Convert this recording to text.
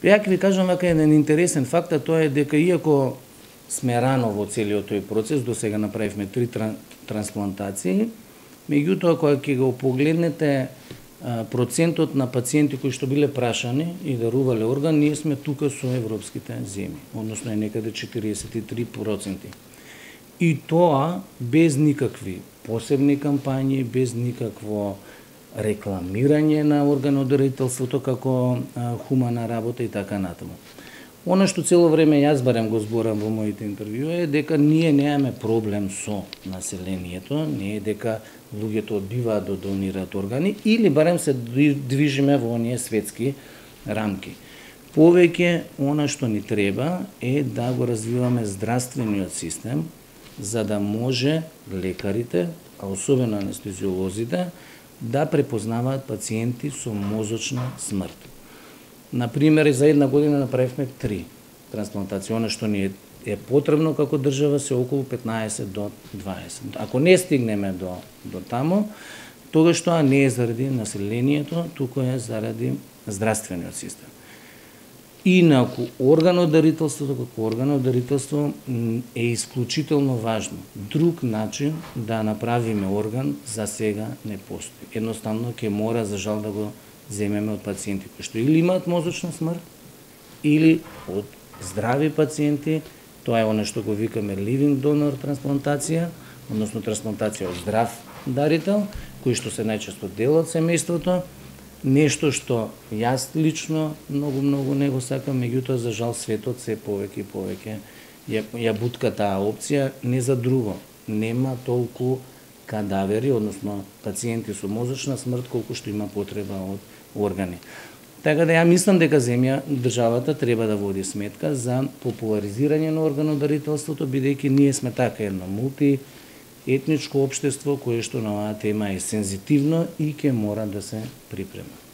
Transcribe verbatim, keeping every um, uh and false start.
Ја ќе ви кажам вака еден интересен факт, а тоа е дека иако сме рано во целиот тој процес, до сега направивме три трансплантации, меѓутоа кога ќе го погледнете процентот на пациенти кои што биле прашани и дарувале орган, ние сме тука со европските земји, односно е некаде четириесет и три проценти. И тоа без никакви посебни кампањи, без никакво рекламирање на органодарителството како а, хумана работа и така натаму. Она што цело време јас барем го зборам во моите интервјуи е дека ние немаме проблем со населението, не е дека луѓето одбиваат да донираат органи или барем се движиме во оние светски рамки. Повеќе она што ни треба е да го развиваме здравствениот систем за да може лекарите, а особено анестезиолозите, да препознаваат пациенти со мозочна смрт. Например, за една година направивме три трансплантации. Она што ни е, е потребно како држава се околу петнаесет до дваесет. Ако не стигнеме до, до тамо, тогаш тоа не е заради населението, туку е заради здравствениот систем. Инаку, органодарителството како органодарителство е исклучително важно. Друг начин да направиме орган за сега не постои. Едноставно ќе мора за жал да го земеме од пациенти кои што или имаат мозочна смрт, или од здрави пациенти, тоа е оно што го викаме living donor трансплантација, односно трансплантација од здрав дарител, кои што се најчесто дел од семејството, нешто што јас лично многу многу не го сакам, меѓутоа за жал светот се повеќе и повеќе ја, ја бутка таа опција, не за друго. Нема толку кадавери, односно пациенти со мозочна смрт колку што има потреба од органи. Така да ја мислам дека земја, државата треба да води сметка за популаризирање на органодарителството, бидејќи ние сме така едно мултиетничко општество кое што на оваа тема е сензитивно и ќе мора да се припрема.